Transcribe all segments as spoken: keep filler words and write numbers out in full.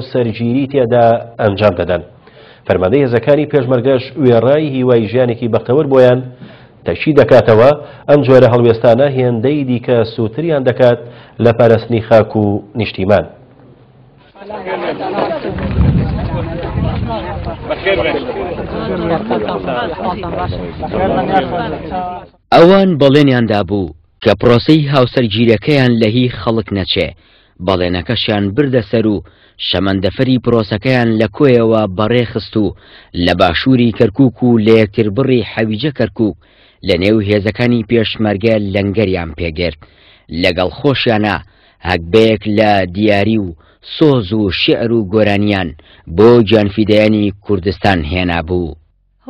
سەرگیری تێدا ئەنجام دەدەن. فەرماندەی هێزەکانی پێشمەرگەش وێڕای هیوای ژیانێکی بەختەوەر بۆیان تەکی دەکاتەوە، ئەم جۆرە هەڵوێستانە هێندەی دیکە سووتریان دەکات لە پاراستنی خاک و نیشتیمان. ئەوان بەڵێنیان دابوو کە پرۆسەی هاوسەرگیرەکەیان لە هی خەڵک نەچێ، بەڵێنەکەشیان بردە سەر و شەمەندەفەری پرۆسەکەیان لە کۆیەوە بەڕێخست و لە باشووری کەرکووک و لە یەکتربڕی حەویجە کەرکووک لە نێو هێزەکانی پێشمەرگە لەنگەریان پێگرت. لەگەڵ خۆشیانە هەگبەیەک لە دیاری و سۆز و شعر و گۆرانیان بۆ گیانفیدایانی کوردستان هێنابوو.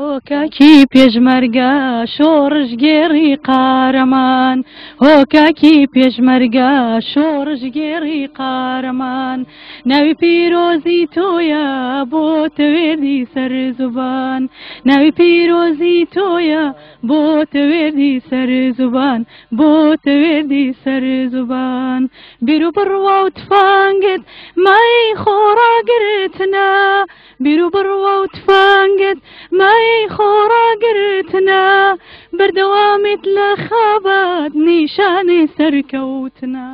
هۆکاکی پێشمەرگە شۆڕشگێڕی قارەمان، هۆکاکی پێشمەرگە شۆڕشگێڕی قارەمان، ناوی پیرۆزی تۆیە بۆ تەوێردی سەر زوبان، ناوی پیرۆزی تۆیە بۆ تەوێردی سەر زوبان، بۆ تەوێردی سەر زوبان. بیر و بڕوا و تفانگت مای خۆڕاگرتنە، بیر و بڕوا و تفانگت مای خۆڕاگرتنە، بەردەوامت لە خەبات نیشانی سەرکەوتنە.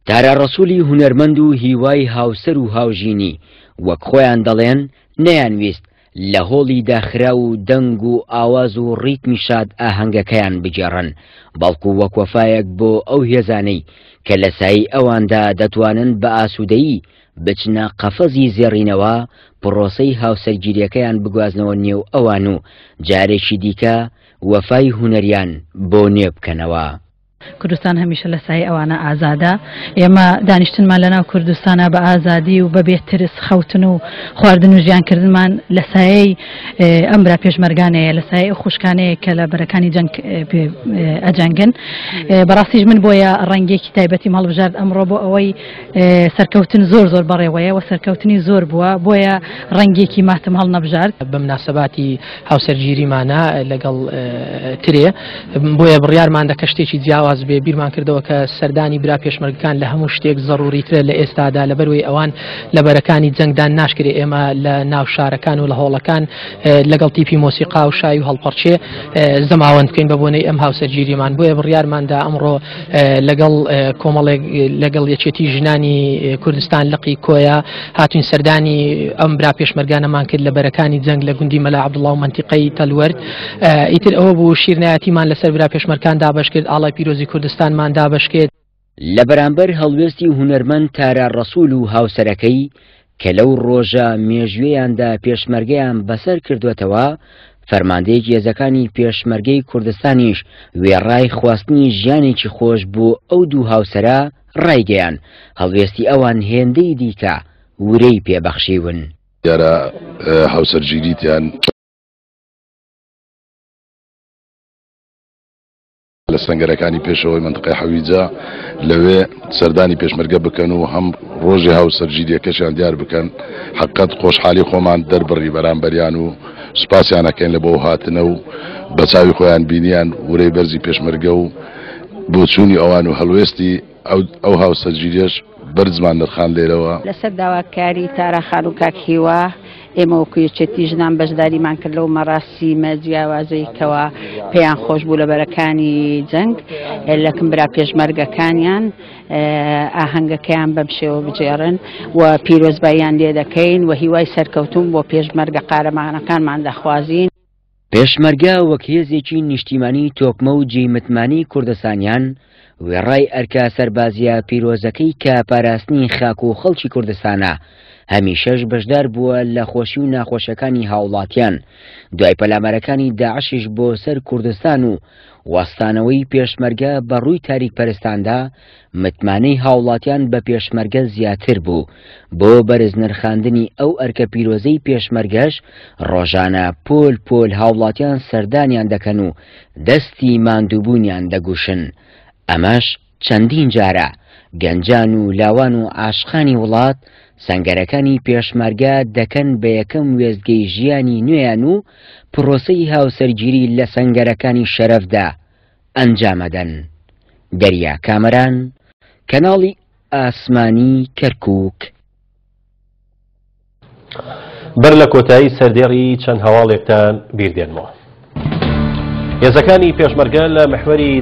تارا ڕەسوولی هونەرمەند و هیوای هاوسەر و هاوژینی وەک خۆیان دەڵێن نەیانویست لە هۆڵی داخرا و دەنگ و ئاواز و ڕیتمی شاد ئاهەنگەکەیان بگێڕن، بەڵکو وەک وەفایەک بۆ ئەو هێزانەی کە لە سایی ئەواندا دەتوانن بە ئاسوودەیی بچنە قەفەزی زێڕینەوە پرۆسەی هاوسەرگیریەکەیان بگوازنەوە نێو ئەوان و جارێکی دیکە وەفای هونەریان بۆ نوێ بکەنەوە. کوردستان هەمیشە لە سایەی ئەوانە ئازادە. ئێمە دانیشتنمان لەناو کوردستانە بە ئازادی و بەبێ ترس خەوتن و خواردن و ژیانکردنمان لە سایەی ئەم برا پێشمەرگانەیە، لە سایەی ئەو خوشکانەیە کە لە بەرەکانی جەنگ ئەجەنگن. بەڕاستیش من بۆیە ڕەنگێکی تایبەتیم هەڵبژارد ئەمڕۆ بۆ ئەوەی سەرکەوتن زۆر زۆر بەڕێوەیە و سەرکەوتنی زۆر بووە، بۆیە ڕەنگێکی ماتم هەڵنەبژارد. بە مناسباتی هاوسەرگیریمانە لەگەڵ ترێ، بۆیە بڕیارمان دەکە شتێکی جیاواز بێ. بیرمان کردەوە کە سەردانی برا پێشمەرگەکان لە هەموو شتێک زەڕوریترە لە ئێستادا، لەبەروەی ئەوان لە بەرەکانی جەنگدان ناشکرێ. ئێمە لە ناو شارەکان و لە هۆڵەکان لەگەڵ تیپی مۆسیقا و شای و هەڵپەڕچێ زەماوەند بکەین بە بۆنەی ئەم هاوسەرگیریمان. بۆیە بڕیارماندا ئەمڕۆ لەگەڵ کۆمەڵێک لەگەڵ یەکێتی ژنانی کوردستان لقی کۆیە هاتوین سەردانی ئەم برا پێشمەرگانەمان کرد لە بەرەکانی جەنگ لە گوندی مەلا عەبدوڵڵا و مەنتیقەی تەلوەرد. ئیتر ئەوە بوو شیرنایەتیمان لەسەر برا پێشمەرکان دابەش کرد، ئاڵای پیرۆزی کوردستانمان دابەش کرد. لە بەرامبەر هەڵوێستی هونەرمەند تارا ڕەسوول و هاوسەرەکەی کە لەو ڕۆژە مێژوێیاندا پێشمەرگەیان بەسەر کردوێتەوە، فەرماندەیەکی هێزەکانی پێشمەرگەی کوردستانیش وێڕای خواستنی ژیانێکی خۆش بۆ ئەو دوو هاوسەرە ڕایگەیان هەڵوێستی ئەوان هێندەی دیکە ورەی پێبەخشیون. دیارە هاوسەرگیریتیان لە سەنگەرەکانی پێشەوەی منطقەی حەویجە لەوێ سەردانی پێشمەرگە بکەن و هەم ڕۆژی هاوسەرگیریەکەشیان دیار بکەن. حقت خۆشحالی خۆمان دەربڕی بەرامبەریان و سوپاسیانەکەین لە بۆ هاتنە و بە چاوی خۆیان بینیان ورەی بەرزی پێشمەرگە و بۆچوونی ئەوان و هەڵوێستی ئەو هاوسەرگیریەش بەرزمان نرخان لێرەوە. لەسەر داواکاری تارا خان و کاک هیوا ئێمە وەکو یەکێتی ژنان بەشداریمان کرد لەو مەراسیمە جیاوازەیەکەوە پێیان خۆش بوو لە بەرەکانی جەنگ لەکم برا پێشمەرگەکانیان ئاهەنگەکەیان بەم شێوە بجێڕن و پیرۆزباییان لێ دەکەین و هیوای سەرکەوتون بۆ پێشمەرگە قارەمانەکانمان دەخوازین. پێشمەرگە وەک هێزێکی نیشتیمانی تۆکمە و جێی متمانەی کوردستانیان وێڕای ئەرکە سەربازیە پیرۆزەکەی کە پاراستنی خاک و خەڵکی کوردستانە، هەمیشەش بەشدار بووە لە خۆشی و ناخۆشیەکانی هاوڵاتیان. دوای پەلامارەکانی داعشیش بۆ سەر کوردستان و وەستانەوەی پێشمەرگە بە ڕووی تاریک پەرستاندا، متمانەی هاوڵاتیان بە پێشمەرگە زیاتر بوو. بۆ بەرز نرخاندنی ئەو ئەرکە پیرۆزەی پێشمەرگەش ڕۆژانە پۆل پۆل هاوڵاتیان سەردانیان دەکەن و دەستی ماندووبوونیان دەگوشن. ئەمەش چەندین جارە گەنجان و لاوان و عاشقانی وڵات سەنگەرەکانی پێشمەرگە دەکەن بە یەکەم وێستگەی ژیانی نوێیان و پرۆسەی هاوسەرگیری لە سەنگەرەکانی شەرەفدا ئەنجامەدەن. دەریا کامەران، کەناڵی ئاسمانی کەرکووک. بەر لە کۆتایی سەردێڕی چەند هەواڵێکتان بیردێنمەوە. هێزەکانی پێشمەرگە لە محوەری